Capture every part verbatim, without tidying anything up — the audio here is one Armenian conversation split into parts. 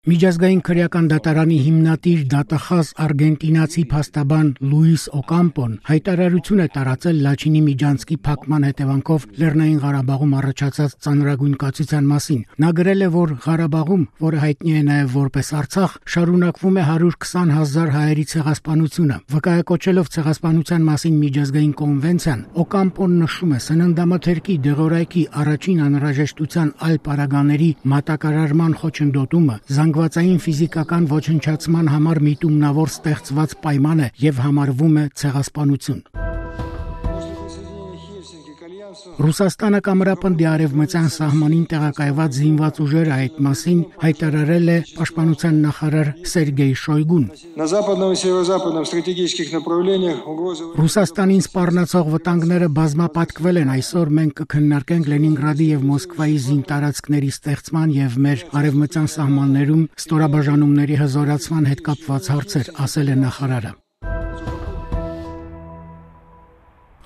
Միջազգային քրեական դատարանի հիմնադիր դատախազ արգենտինացի փաստաբան Լուիս Օկամպոն հայտարարություն է տարածել Լաչինի միջանցքի փակման հետևանքով Լեռնային Ղարաբաղում առաջացած ծանրագույն կացության մասին։ Նա գրել է, որ Ղարաբաղում, որը հայտնի է նաև որպես Արցախ, շարունակվում է հարյուր քսան հազար հայերի ցեղասպանությունը։ Վկայակոչելով ցեղասպանության մասին միջազգային կոնվենցիան, Օկամպոն նշում է սննդամթերքի դեղորայքի առաջին անհրաժեշտության այլ պարագաների մատակարարման խոչընդոտումը, զանգվածային ֆիզիկական ոչնչացման համար միտումնավոր ստեղծված պայման է եւ համարվում է ցեղասպանություն։ Ռուսաստանը կամրապնդի արևմտյան սահմանին տեղակայված զինված ուժերը այդ մասին հայտարարել է պաշտպանության նախարար Սերգեյ Շոյգուն։ Ռուսաստանին սպառնացող վտանգները բազմապատկվել են, այսօր մենք կքննարկենք Լենինգրադի եւ Մոսկվայի զինտարածքների ստեղծման եւ մեր արևմտյան սահմաններում ստորաբաժանումների հզորացման հետ կապված հարցեր, ասել է նախարարը։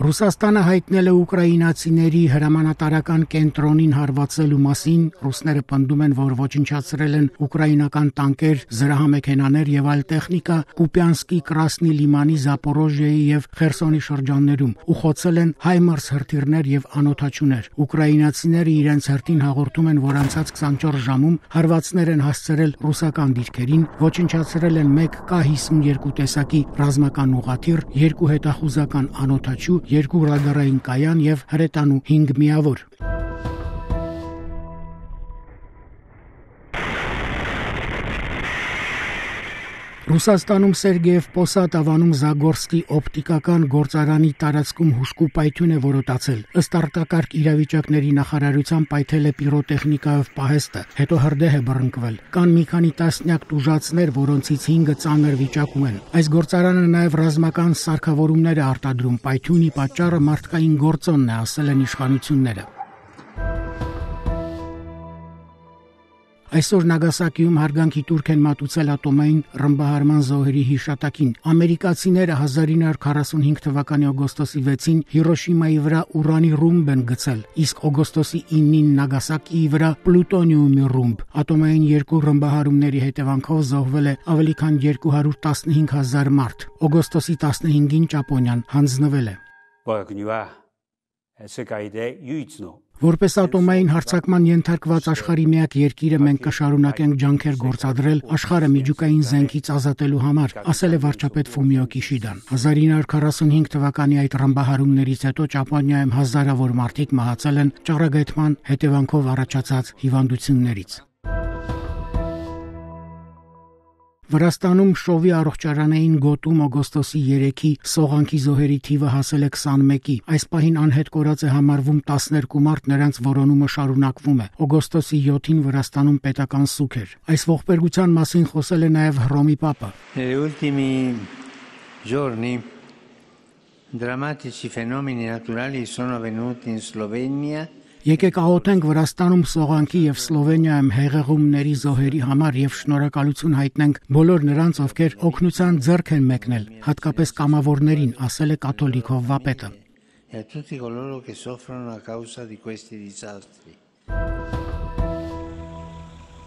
Ռուսաստանը հայտնել է ուկրաինացիների հրամանատարական կենտրոնին հարվածելու մասին, ռուսները պնդում են, որ ոչնչացրել են ուկրաինական տանկեր, զրահամեքենաներ եւ այլ տեխնիկա Կուպյանսկի Կրասնի լիմանի, Զապորոժիայի եւ Խերսոնի շրջաններում ու խոցել են հայմարս հրթիռներ եւ անօդաչուներ։ Ուկրաինացիները իրենց հերթին հաղորդում են, որ անցած քսանչորս ժամում հարվածներ են հասցրել ռուսական դիրքերին, ոչնչացրել են մեկ Կ հիսունյոթ տեսակի ռազմական ուղղաթիռ, երկու հետախուզական անօդաչու, երկու ռադարային կայան եւ հրետանու հինգ միավոր։ Ռուսաստանում Սերգեև Պոսադ ավանում Զագորսկի օպտիկական գործարանի տարածքում հուժկու պայթյուն է որոտացել։ Ըստ արտակարգ իրավիճակների նախարարության պայթել է պիրոտեխնիկայով պահեստը, հետո հրդեհ է բռնկվել։ Կան մի քանի տասնյակ տուժածներ, որոնցից հինգը ծանր վիճակում են։ Այս գործարանը նաև ռազմական սարքավորումներ է արտադրում։ Պայթյունի պատճառը մարդկային գործոնն է, ասել են իշխանությունները։ Այսօր Նագասակիում հարգանքի տուրք են մատուցել ատոմային ռմբահարման զոհերի հիշատակին։ Ամերիկացիները հազար ինը հարյուր քառասունհինգ թվականի օգոստոսի վեցին Հիրոշիմայի վրա ուրանի ռումբ են գցել, իսկ օգոստոսի ինին Նագասակիի վրա պլուտոնիումի ռումբ։ Ատոմային երկու ռմբահարումների հետևանքով զոհվել է ավելի քան երկու հարյուր տասնհինգ հազար մարդ։ Օգոստոսի տասնհինգին Ճապոնիան հանձնվել է։ Որպես ատոմային հարձակման ենթարկված աշխարհի միակ երկիրը մենք կշարունակենք ջանքեր գործադրել աշխարհը միջուկային զենքից ազատելու համար, ասել է վարչապետ Ֆումիո Կիշիդան։ հազար ինը հարյուր քառասունհինգ թվականի այդ ռմբահարումներից հետո Ճապոնիայում հազարավոր մարդիկ մահացել են ճառագայթման հետևանքով առաջացած հիվանդություններից։ Վրաստանում շովի առողջարանային գոտում օգոստոսի երեքի սողանքի զոհերի թիվը հասել է քսանմեկի։ Այս պահին անհետ կորած է համարվում տասներկու մարդ, նրանց որոնումը շարունակվում է։ Օգոստոսի յոթին Վրաստանում պետական սուգ էր։ Այս ողբերգության մասին խոսել է նաև Հռոմի Պապը։ Drammatici fenomeni naturali sono avvenuti in Slovenia. Եկեք աղոթենք Վրաստանում սողանքի եւ Սլովենիայում հեղեղումների զոհերի համար եւ շնորհակալություն հայտնենք բոլոր նրանց, ովքեր օգնության ձեռք են մեկնել, հատկապես կամավորներին, ասել է կաթոլիկ հովվապետը։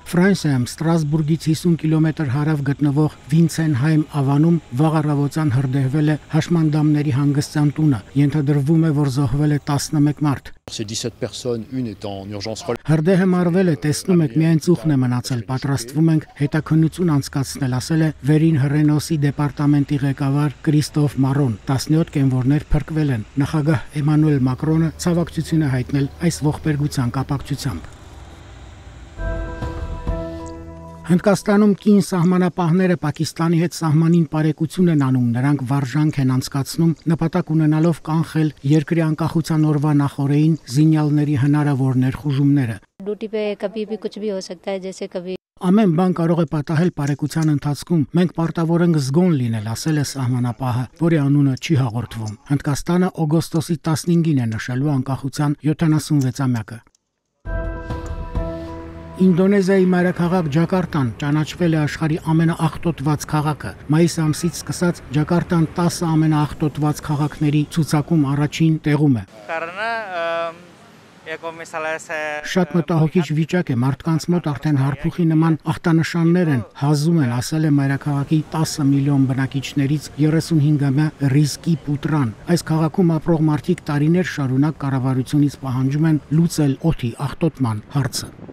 Ֆրանսիայում Ստրասբուրգից հիսուն կիլոմետր հարավ գտնվող Վինցենհայմ ավանում վաղ առավոտյան հրդեհվել է հաշմանդամների հանգստյան տունը։ Ենթադրվում է, որ զոհվել է տասնմեկ մարդ։ Հրդեհը մարվել է, տեսնում եք, միայն ծուխն է մնացել, պատրաստվում ենք հետաքննություն անցկացնել, ասել է Վերին Հռենոսի դեպարտամենտի ղեկավար Կրիստոֆ Մարոն։ տասնյոթ կենվորներ փրկվել են։ Նախագահ Էմանուել Մակրոնը ցավակցություն է հայտնել այս ողբերգության կապակցությամբ։ Հնդկաստանում կին սահմանապահները Պակիստանի հետ սահմանին պարեկություն են անում, նրանք վարժանք են անցկացնում, նպատակ ունենալով կանխել երկրի անկախության օրվա նախօրեին զինյալների հնարավոր ներխուժումները։ Ամեն բան կարող է պատահել պարեկության ընթացքում, մենք պարտավոր ենք զգոն լինել, ասել է սահմանապահը, որի անունը չի հաղորդվում։ Հնդկաստանը օգոստոսի տասնհինգին է նշելու անկախության յոթանասունվեցամյակը։ Ինդոնեզիայի մայրաքաղաք Ջակարտան ճանաչվել է աշխարհի ամենաաղտոտված քաղաքը։ Մայիս ամսից սկսած Ջակարտան տասը ամենաաղտոտված քաղաքների ցուցակում առաջին տեղում է։ Շատ մտահոգիչ վիճակ է, մարդկանց մոտ արդեն հարփուխի նման ախտանշաններ են, հազում են, ասել է մայրաքաղաքի տասը միլիոն բնակիչներից երեսունհինգամյա Ռիզկի Պուտրան։ Այս քաղաքում ապրող մարդիկ տարիներ շարունակ կառավարությունից պահանջում են լուծել օդի աղտոտման հարցը։